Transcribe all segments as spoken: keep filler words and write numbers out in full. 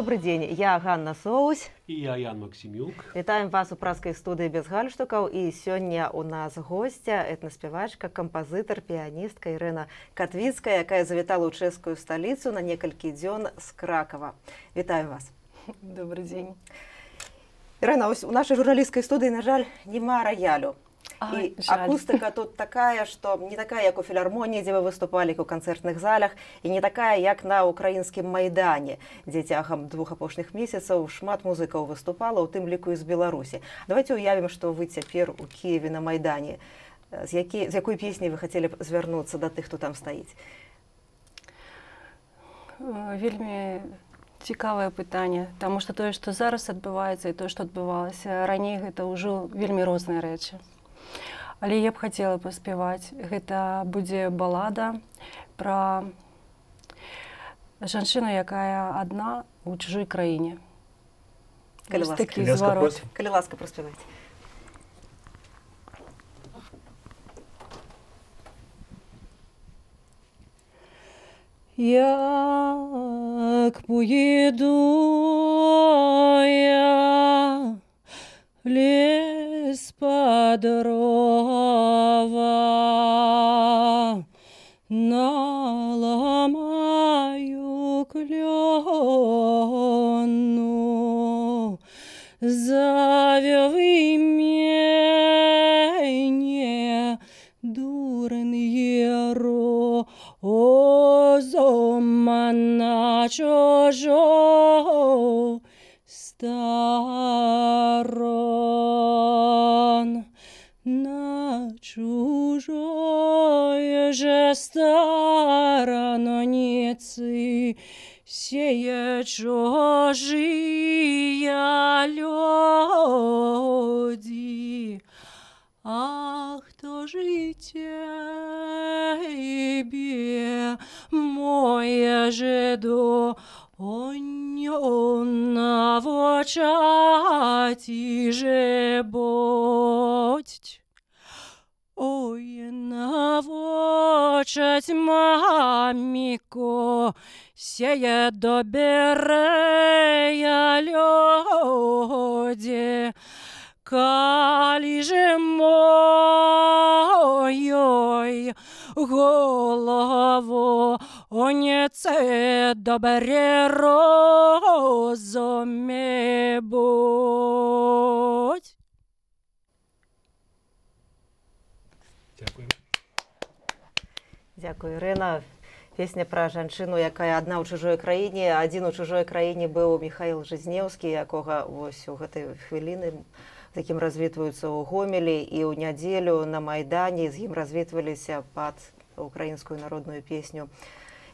Добрый день, я Ганна Соусь. И я Ян Максимюк. Вітаем вас у праскай студыі без гальштукаў. І сёння у нас гостя, этнаспявачка, кампазітар, піяністка Ірына Катвіцкая, якая завітала ў чэшскую сталіцу на некалькі дзён з Кракава. Вітаю вас. Добрый день. Ірына, у нашай журналісцкай студыі, на жаль, няма раялю. Ай, і жаль. акустыка тут такая, што не такая, як у філармоніі, дзе вы выступалі, у канцэртных залях, і не такая, як на украінскім майдане, дзе цягам двух апошніх месяцаў шмат музыкаў выступала, у тым ліку і з Беларусі. Давайте уявім, што вы цяпер у Киеве на майдане. З, які, з якой песняй вы хацелі б звярнуцца да тых, хто там стаіць? Вельмі цікавае пытанне, таму што тое, што зараз адбываецца, і тое, што адбывалася раней, гэта ўжо вельмі розныя рэчы. Але я б хацела паспяваць. Гэта будзе балада пра жанчыну, якая адна ў чужой краіне. Калі ласка, такі зварот. Калі ласка, праспявайце. Як поїду я в ліс по дрова, наламаю клену, завяви мене, дурний розум на чужу сторон, на чужой же сторонице сея чужие люди. Ах, кто же тебе, моя жеду, он навочати же будь. Ой, навочать, мамико, сея добрые люди. Калі же моёй голову оніце добре розумі будь. Дякую. Дзякую, Ірына. Песня пра жанчыну, якая адна ў чужой краіне. Адзін у чужой краіне быў Міхаіл Жизнеўскі, якога вось у гэтай хвіліны з якім развітваюцца ў Гомелі, і ў нядзелю на майдане з ім развітваліся пад украінскую народную песню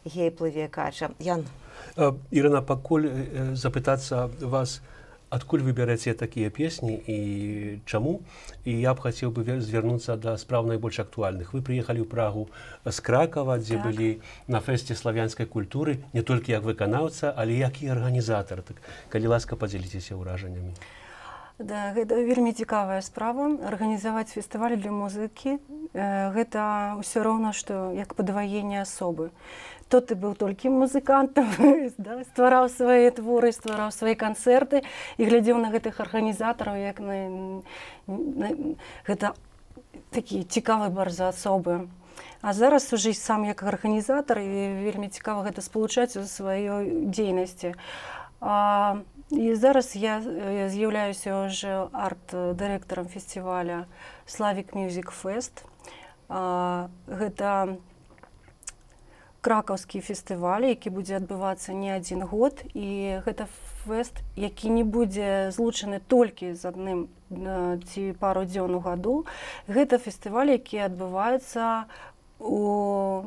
«Гей, плыве кача». Ян. Ірына, пакуль запытацца вас, адкуль вы бярэце такія песні і чаму? І я б хацеў бы звярнуцца да спраў найбольш актуальных. Вы прыехалі ў Прагу з Кракава, дзе Так. былі на фэсце славянскай культуры, не толькі як выканаўца, але як і арганізатар. Так, калі ласка, падзяліцеся ўражаннямі. Да, гэта вельмі цікавая справа. Арганізаваць фестываль для музыкі гэта ўсё роўна, што як падваенне асобы. То ты быў толькі музыкантам, да, ствараў свае творы, ствараў свае канцэрты і глядзеў на гэтых арганізатараў, як на, на гэта такі цікавы бар за асобы. А зараз уже сам як арганізатар, і вельмі цікава гэта спалучаць у сваёй дзейнасці. А, і зараз я з'яўляюся ўжо арт-дырэктарам фестываля Slavic Music Fest. А, гэта кракаўскі фестываль, які будзе адбывацца не адзін год, і гэта фэст, які не будзе злучаны толькі з адным ці пару дзён у году. Гэта фестываль, які адбываецца у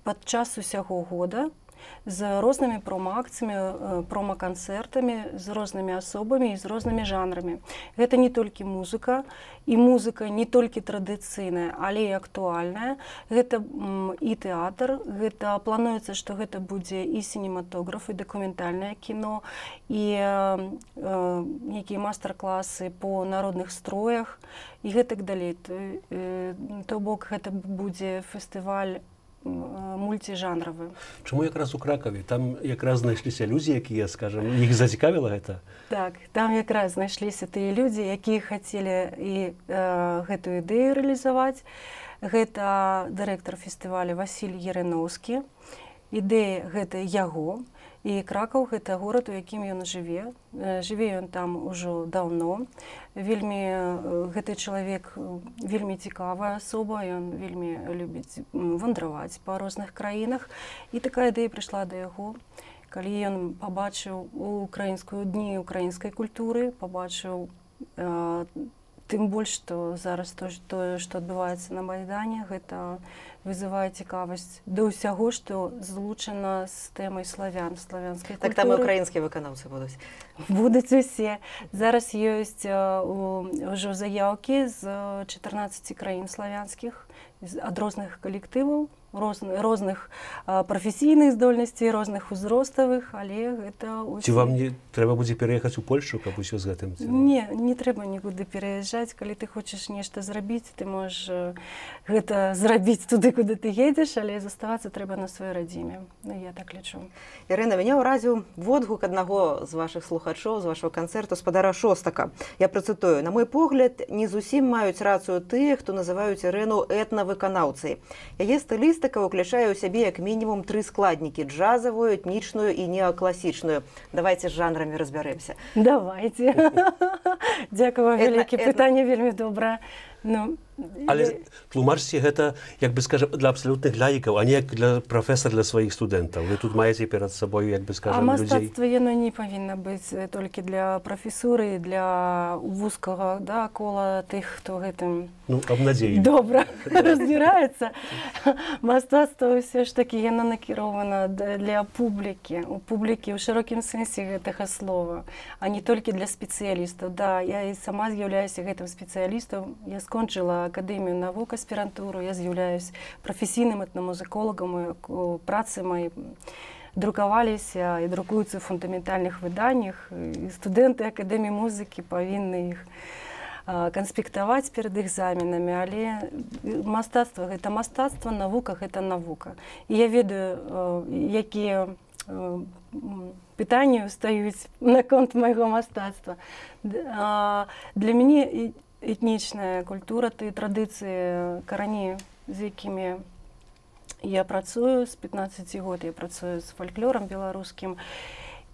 падчас усяго года з рознымі промо-акцыямі, промо-канцэртамі, з рознымі асобамі і з рознымі жанрамі. Гэта не толькі музыка, і музыка не толькі традыцыйная, але і актуальная. Гэта і тэатр, гэта плануецца, што гэта будзе і сінематограф, і дакументальнае кіно, і нейкія мастер-класы по народных строях, і гэтак далей. То бок, гэта будзе фестываль мультижанровы. Чому якраз у Кракові? Там якраз знайшліся людзі, якія, скажем, їх зацікавіла гэта? Так, там якраз знайшліся тыя людзі, якія хацелі і э, гэтую ідэю рэалізаваць. Гэта дырэктар фестываля Васіль Ярэноўскі. Ідэя гэта яго. І Кракаў гэта горад, у якім ён жыве. Жыве ён там ужо даўно. Вельмі гэты чалавек вельмі цікавая асоба, ён вельмі любіць вандраваць па розных краінах. І такая ідэя прыйшла да яго, калі ён пабачыў украінскую дні украінскай культуры, пабачыў э, тым больш, што зараз тое, што адбываецца на Майдане, гэта вызывае цікавасць да ўсяго, што злучана з тэмай славян, славянскай культуры. Так там і ўкраінскія выканаўцы будуць? Будуць усе. Зараз ёсць ўжо заяўкі з чатырнаццаці краін славянскіх, ад розных калектываў, розных, розных прафесійных здольнасцей, розных узроставых, але гэта ўсе... Ці вам не трэба будзе пераехаць у Польшу, каб усё з гэтым? Не, не трэба нікуды пераязджаць. Калі ты хочаш нешта зрабіць, ты можаш гэта зрабіць туды, куды ты едзеш, але заставацца трэба на сваёй радзіме. Ну, я так лічу. Ірына, мяне ўразіў водгук аднаго з вашых слухачоў, з вашого канцэрту, спадара Шостака. Я працытую: на мой погляд, не зусім маюць рацыю тыя, хто называюць Ірыну этнавыканаўцай. Яе стылістыка ўключае ў сябе як мінімум тры складнікі: джазавую, этнічную і неакласічную. Давайте з жанрамі разбярэмся. Давайте. Дзякую вам вялікі. Пытанне вельмі добрае. Ну, але тлумачце гэта, як бы скажем, для абсалютных лаікаў, а не як для прафесар для сваіх студэнтаў. Вы тут маеце перад сабою, як бы скажем, людзей. А мастацтва яно не павінна быць толькі для прафесуры, для вузкага, да, кола тых, хто гэтым... Ну, абнадзеі. Добра разбіраецца. Мастацтва ўсё ж такі яно накірована для публікі, у публікі ў шырокім сэнсе гэтага слова, а не толькі для спецыялістаў. Да, я і сама з'яўляюся гэтым спецыялістам. Я скончыла акадэмію навук, аспірантуру, я з'яўляюсь прафесійным этнамузыколагам, працы мои друкаваліся і друкуюцца ў фундаментальных выданнях, і студэнты акадэміі музыкі павінны іх канспектаваць перад экзаменамі, але мастацтва гэта мастацтва, навука гэта навука. І я ведаю, якія пытанні ўстаюць наконт майго мастацтва. Для мяне этнічная культура, тыя традыцыі, карані, з якімі я працую, з пятнаццаці год я працую з фальклорам беларускім.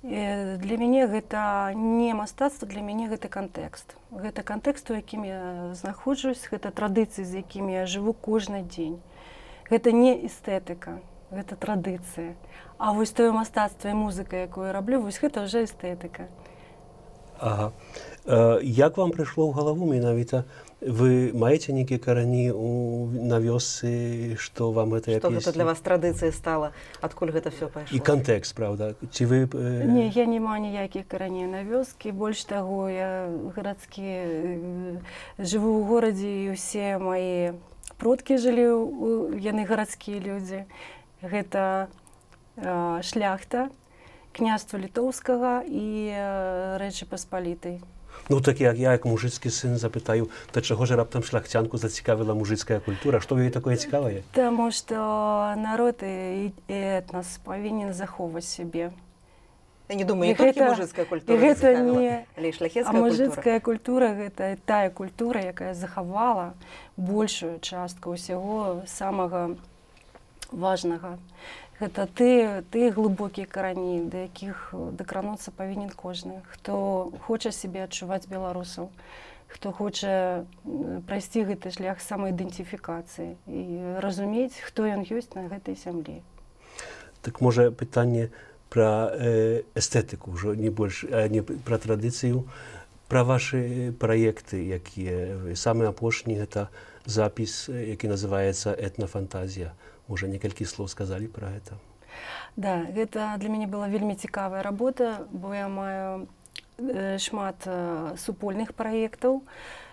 Для мяне гэта не мастацтва, для мяне гэта кантэкст. Гэта кантэкст, у якім я знаходжусь, гэта традыцыі, з якімі я жыву кожны дзень. Гэта не эстэтыка, гэта традыцыя. А вось тое мастацтва і музыка, якую я раблю, вось гэта ўжо эстэтыка. Ага. Як вам прыйшло ў галаву менавіта? Вы маеце нейкія карані на вёсцы, што вам гэтая песня? Што гэта для вас традыцыяй стала? Адкуль гэта все пайшло? І кантэкст, правда? Ці вы... Не, я не маю ніякіх караней на вёскі. Больш таго, я гарадскі, жыву ў горадзе, і ўсе мае продкі жылі, яны гарадскія людзі. Гэта шляхта, княства літоўскага і Рэчы Паспалітай. Ну так як я, як мужицький син, запитаю, то чого ж раптом шляхтянку зацікавила мужицька культура? Що в її такое цікаве? Тому що народ і етнос повинен заховувати себе. Я не думаю, не тільки мужицька культура зацікавила, але й шляхетська культура. А мужицька культура – це та культура, яка заховала більшу частку усього самого важного. Гэта ты, ты глыбокія карані, да якіх дакрануцца павінен кожны, хто хоча сябе адчуваць беларусаў, хто хоча прайсці гэты шлях самаідэнтыфікацыі і разумець, хто ён ёсць на гэтай зямлі. Так можа пытанне пра э, эстэтыку, ўжо не больш, а не пра традыцыю, пра вашы праекты, якія самы апошні гэта запіс, які называецца «Этнафантазія». Можа, некалькі слоў сказалі пра гэта? Да, гэта для мяне была вельмі цікавая работа, бо я маю шмат супольных праектаў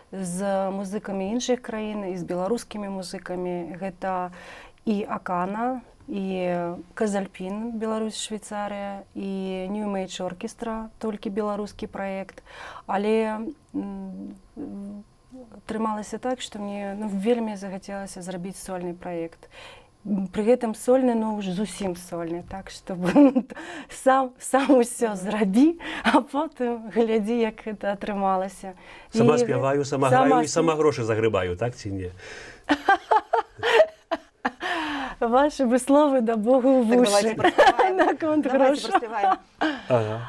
з музыкамі іншых краін і з беларускімі музыкамі. Гэта і Акана, і Казальпін, Беларусь, Швейцарія, і New Age Orchestra, толькі беларускі праект. Але атрымалася так, што мне ну, вельмі захацелася зрабіць сольны праект. пры гэтым сольны, ну ўжо зусім сольны, так што сам сам усё зрабі, а потым глядзі, як гэта атрымалася. Сама спяваю, сама граю і сама грошы загрыбаю, так ці не? Ваши бы словы да Богу в уши. Наконт грошу.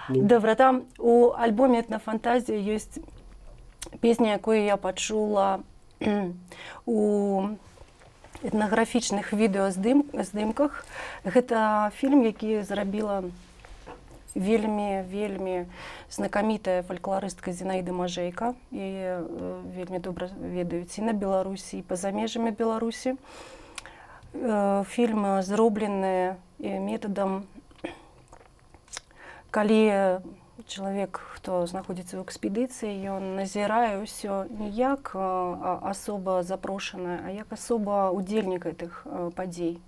Добра, там у альбоме «Этнофантазія» ёсць песня, якую я пачула у этнаграфічных відэаздымках. Гэта фільм, які зрабіла вельмі, вельмі знакамітая фальклорыстка Зінаіда Мажэйка. Яе вельмі добра ведаюць і на Беларусі, і па-за межамі Беларусі. Фільм зроблены метадам, калі чалавек, хто знаходзіцца ў экспедыцыі, ён назірае ўсё не як асоба запрошаная, а як асоба удзельнік гэтых падзей.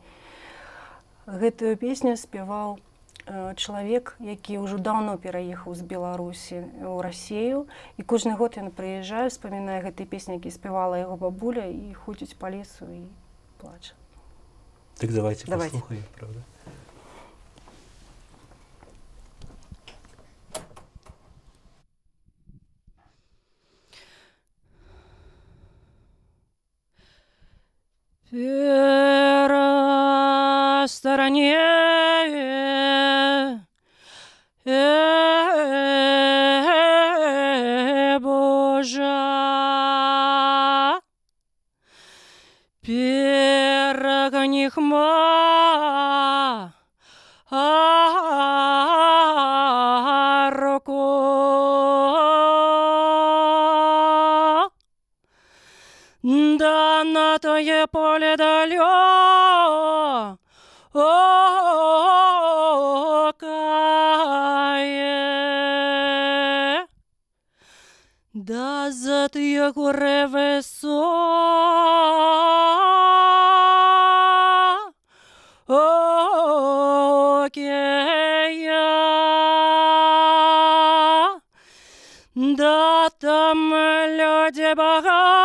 Гэтую песню спяваў чалавек, які ўжо даўно пераехаў з Беларусі ў Расію, і кожны год ён прыязджае, успамінае гэтыя песні, які спявала яго бабуля, і ходзіць па лесу і плача. Так давайте, давайте послухаем, правда? Вера стороне, Божа, перегони хма, руку. Да на тое поле далекое, да за тые горы высокие, да там люди богатые,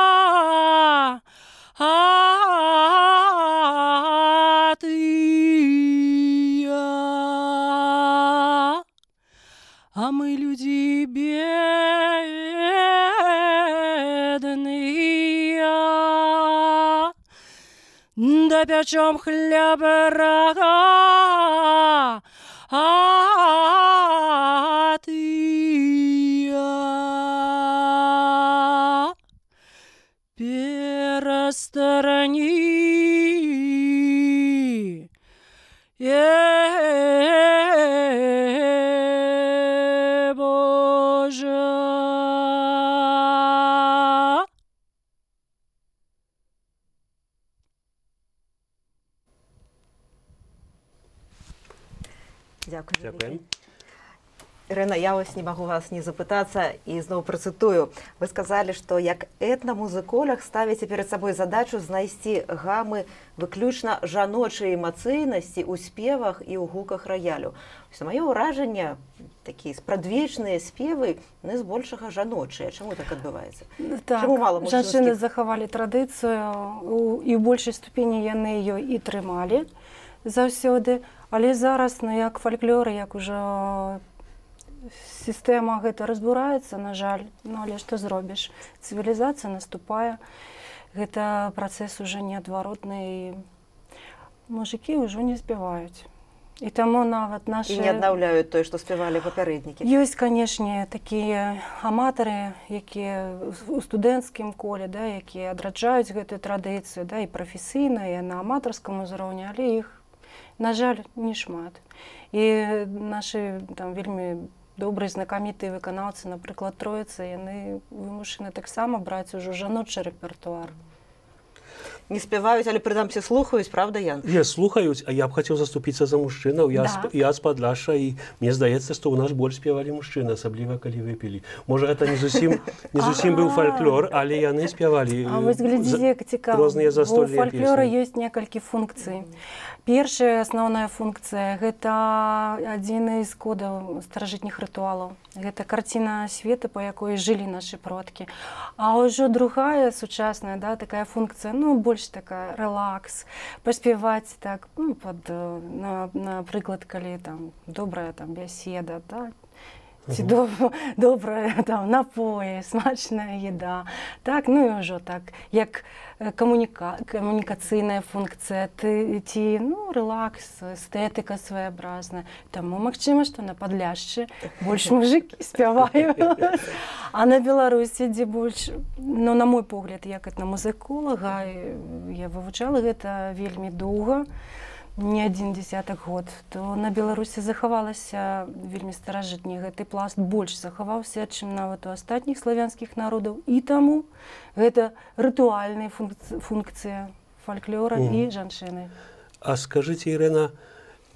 а мы люди бедные, да печем хлеб рога, а ты пересторони, Божа. Дякую. Дякуем. Ірына, я ось не магу вас не запытацца і зноў працытую. Вы сказалі, што як этнамузыколог ставіце перад сабой задачу знайсці гамы выключна жаночай эмацыйнасці ў спевах і ў гуках раялю. Маё ўражанне, такія спрадвечныя спевы, не збольшага жаночыя. Чаму так адбываецца? Так, жанчыны захавалі традыцыю, і ў большай ступені яны ёй і трымалі заўсёды, але зараз, ну, як фальклор, як ужо сістэма гэта разбураецца, на жаль, ну, але што зробіш? Цывілізацыя наступае, гэта працэс ужо неадваротны, і мужыкі ўжо не спяваюць. І таму нават нашы... І не аднаўляюць тое, што спявалі папярэднікі. Ёсць, канешне, такія аматары, якія у студэнцкім коле, да, якія адраджаюць гэтую традыцыю, да, і прафесійна, і на аматарскім узроўні, але іх, на жаль, не шмат. І нашы там вельмі добрыя знакамітыя выканаўцы, напрыклад, Троіца, яны вымушаны таксама браць ужо жаночы рэпертуар. Не спяваюць, але прынамсі слухаюць, правда, Ян? Не, слухаюць, а я б хацеў заступіцца за мужчынаў. Я, да. я з Падляша, і мне здаецца, што ў нас больш спявалі мужчыны, асабліва калі выпілі. Можа, гэта не зусім, не зусім быў фальклор, але яны спявалі а вось глядзіце, як цікава. Розныя застольныя песні. У фальклора ёсць некалькі функцый. Першая асноўная функцыя – гэта адзін з кодаў старажытніх рытуалаў. Гэта карціна свету, па якой жылі нашы продкі. А ўжо другая, сучасная, да, такая функцыя, ну, больш больш такая релакс, паспяваць так, ну, пад, на, напрыклад, калі там добрая там бяседа, да, ці доб добрая там напоі, смачная еда. Так, ну і ўжо так, як камуніка камунікацыйная функцыя, ты, ці, ну, релакс, эстэтыка своеобразная. Таму магчыма, што на Падляшчы больш мужыкі спяваюць. А на Беларусі, дзе больш, ну, на мой погляд, як этнамузыколага, я вывучала гэта вельмі доўга, не адзін дзесятак год, то на Беларусі захавалася вельмі старажытні гэты пласт, больш захаваўся, чым нават у астатніх славянскіх народаў. І таму гэта рытуальная функцыя фальклора mm. і жанчыны. А скажыце, Ірына,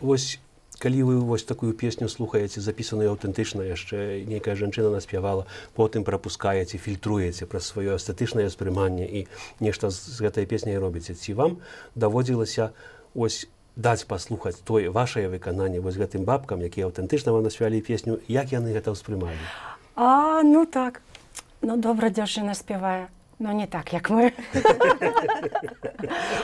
вось калі вы вось такую песню слухаеце, запісаную аўтэнтычна, яшчэ нейкая жанчына наспявала, потым прапускаеце, фільтруеце праз сваё эстэтычнае ўспрыманне і нешта з гэтай песняй робіце. Ці вам даводзілася ось даць паслухаць тое вашае выкананне вось гэтым бабкам, якія аўтэнтычна вам наспявалі песню, як яны гэта ўспрымалі? А, ну так. Ну, добра дзяўчына спявае. Ну, не так, як мы.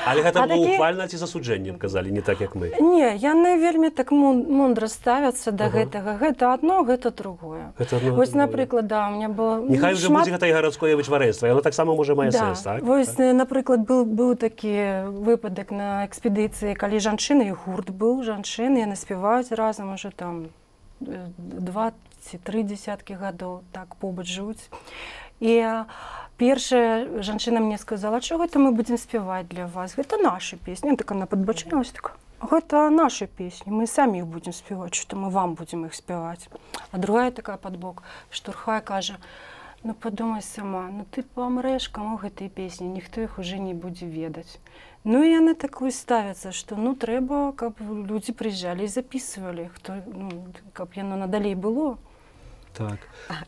Але гэта было ухвальна ці засуджэннем, казалі, не так, як мы? Не, яны вельмі так мундра ставяцца да гэтага. Гэта адно, гэта другое. Вось, напрыклад, да, у меня было... Нехай уже будзе гэта і гарадское вычварэнства, яно таксама можа мае сэнс, так? Вось, напрыклад, быў такі выпадак на экспедыцыі, калі жанчыны, і гурт быў, жанчыны, яны спяваюць разам уже там два ці тры дзесяткі гадоў, так побач жывуць. І першая жанчына мне сказала, што гэта мы будзем спяваць для вас. Гэта наша песня. Так она падбачылася, так, гэта наша песні, мы самі іх будзем спяваць, што мы вам будзем іх спяваць. А другая такая падбок штурхае, кажа, ну падумай сама, ну ты памрэш, каму гэтай песні, ніхто іх уже не будзе ведаць. Ну і яны такую ставяцца, што ну трэба, каб людзі прыязджалі і запісвалі, хто, ну, каб яно надалей было. Так.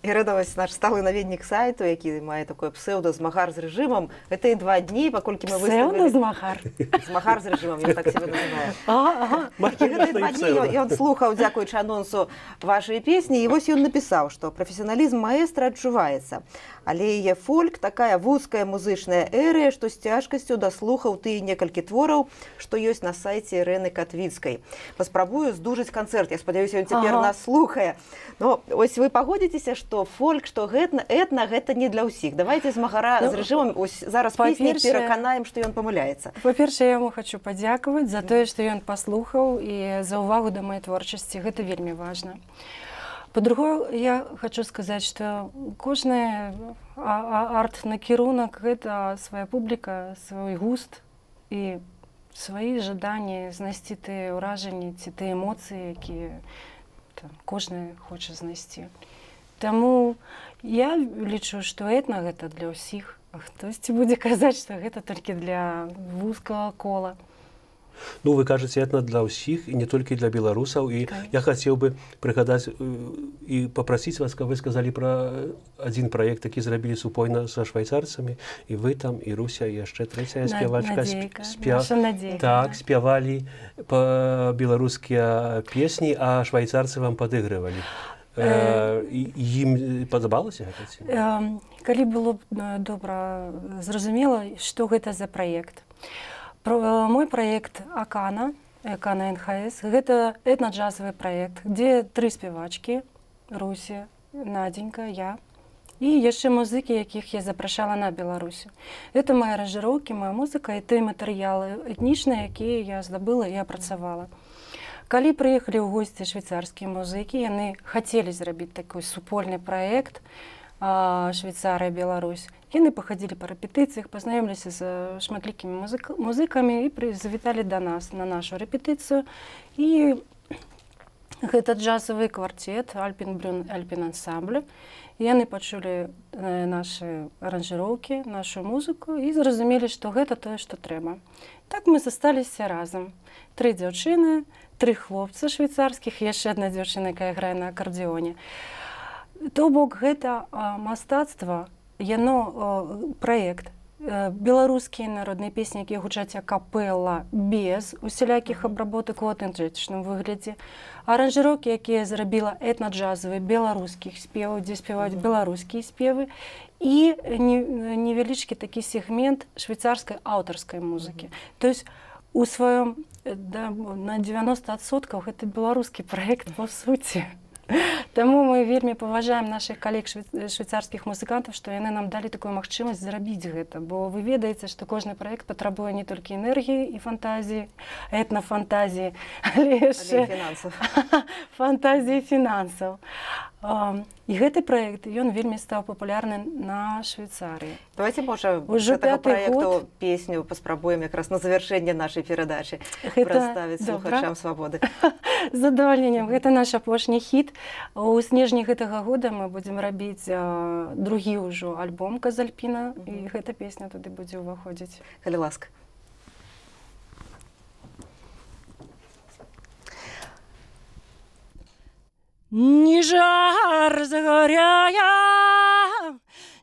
Ірына, вось наш сталы наведнік сайту, які мае такое псеўда «Змагар з рэжымам». Гэта і два дні, паколькі мы выставілі... Псеўда «Змагар»? «Змагар з рэжымам», я так себе называю. Ага. Гэта і два дні, ён слухаў, дзякуючы анонсу, вашай песні, і вось ён напісаў, што прафесіяналізм маэстра адчуваецца. Але яе фольк такая вузкая музычная эрыя, што з цяжкасцю даслухаў тыя некалькі твораў, што ёсць на сайце Ірыны Катвіцкай. Паспрабую здужаць канцэрт, я спадзяюся, ён цяпер нас слухае. Но ось вы пагодзіцеся, што фольк, што этна, этна гэта не для ўсіх. Давайте «Змагара з рэжымам» зараз песні пераканаем, што ён памыляецца. Па-першае, я яму хочу падзякаваць за тое, што ён паслухаў і за ўвагу да маёй творчасці. Гэта вельмі важна. По-другое, я хочу сказаць, што кожны арт-накірунак – гэта свая публіка, свой густ і свае жаданні знайсці тыя ўражанні ці тыя эмоцыі, якія кожны хоча знайсці. Таму я лічу, што этна гэта для ўсіх, а хтосьці будзе казаць, што гэта толькі для вузкага кола. Ну, вы кажаце, этна для ўсіх, і не толькі для беларусаў. І я хацеў бы прыгадаць і папрасіць вас, каб вы сказалі пра адзін праект, які зрабілі супольна са швайцарцамі, і вы там, і Руся, і яшчэ трэцяя спявачка. Наша Надзейка. Так, спявалі па-беларускія песні, а швайцарцы вам падыгрывалі. Ім падабалася гэта? Калі было добра зразумела, што гэта за праект. Мой проект «Акана», «Акана эн ха эс», гэта этна-джазовый проект, дзе тры спевачкі, Руся, Надзенька, я, і яшчэ музыкі, якіх я запрашала на Беларусі. Гэта мае аранжыроўкі, моя музыка і тыя матэрыялы этнічныя, якія я здабыла і апрацавала. Калі прыехалі ў госці швейцарскія музыкі, яны хацелі зрабіць такой супольны праект Швейцарыя, Беларусь. Яны пахадзілі па рэпетыцыях, пазнаёміліся з шматлікімі музыкамі і завіталі да нас на нашу рэпетыцыю. І гэта джазавы кварцет «Альпін Брюн Альпін Ансамбль». Яны пачулі нашы аранжыроўкі, нашу музыку і зразумелі, што гэта тое, што трэба. Так мы засталіся разам. Тры дзяўчыны, тры хлопцы швейцарскіх, яшчэ адна дзяўчына, якая грае на акардэоне. То бок гэта мастацтва, яно праект, беларускія народныя песні, якія гучаць акапэла без усялякіх абработак у аўтэнтычным выглядзе, аранжыроўкі, якія зрабіла этна-джазавыя беларускіх спеваў, дзе спяваюць беларускія спевы, і невялічкі такі сегмент швейцарскай аўтарскай музыкі. То есть у сваём да, на девяносто адсоткаў гэта беларускі праект па суці. Таму мы вельмі паважаем нашых калег швейцарскіх музыкантаў, што яны нам далі такую магчымасць зрабіць гэта, бо вы ведаеце, што кожны праект патрабуе не толькі энергіі і фантазіі, этнафантазіі, але яшчэ фантазіі фінансаў. І гэты праект, ён вельмі стаў папулярны на Швейцарыі. Давайте, можа, з гэтага праекту песню паспрабуем якраз на завяршэнне нашай перадачы прадставіць слухачам Свабоды. З задавальненнем. Гэта наш апошні хіт. У снежні гэтага года мы будзем рабіць другі ўжо альбом «Казальпіна», і гэта песня туды будзе ўваходзіць. Калі ласка. Ни жар загоряя,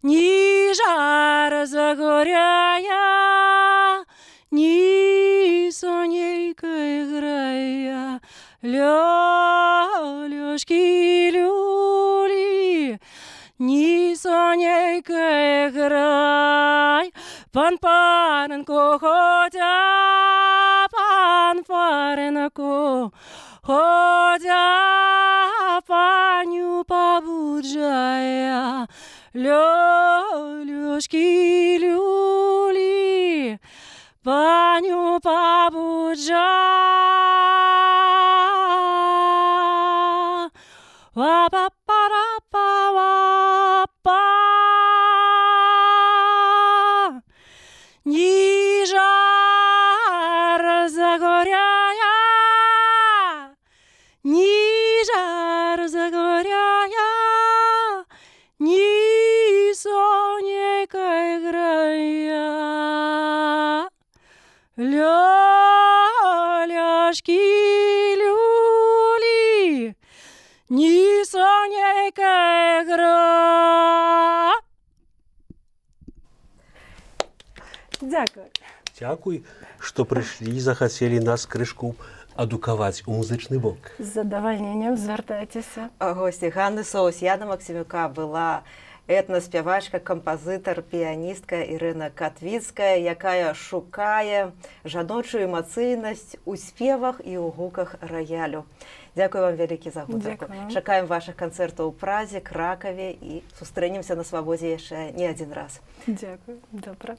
ни жар загоряя, ни сонейка играя, лёлёшки люли, ни сонейка играй, пан паренко ходя, пан паренко ходя, паню побуджая, лёлёшки люли, паню побуджая, ва-па-па-ра-па-ва-па. Ни жар загоряя, ни жар загоряя, ни сонейка играя, лёлёшки люли, ни сонейка играя. Дякую. Дякуй, што прыйшлі і захацелі нас крышку адукаваць у музычны бок. З задавальненнем звяртайцеся. Госці Ганны Соус, Яна Максімюка была этнаспявачка, кампазітар, піяністка Ірына Катвіцкая, якая шукае жаночую эмацыйнасць у спевах і ў гуках раялю. Дзякую вам вялікі за гутарку. Чакаем вашых канцэртаў у Празе, Кракаве і сустрэнемся на Свабодзе яшчэ не адзін раз. Дзякую. Добра.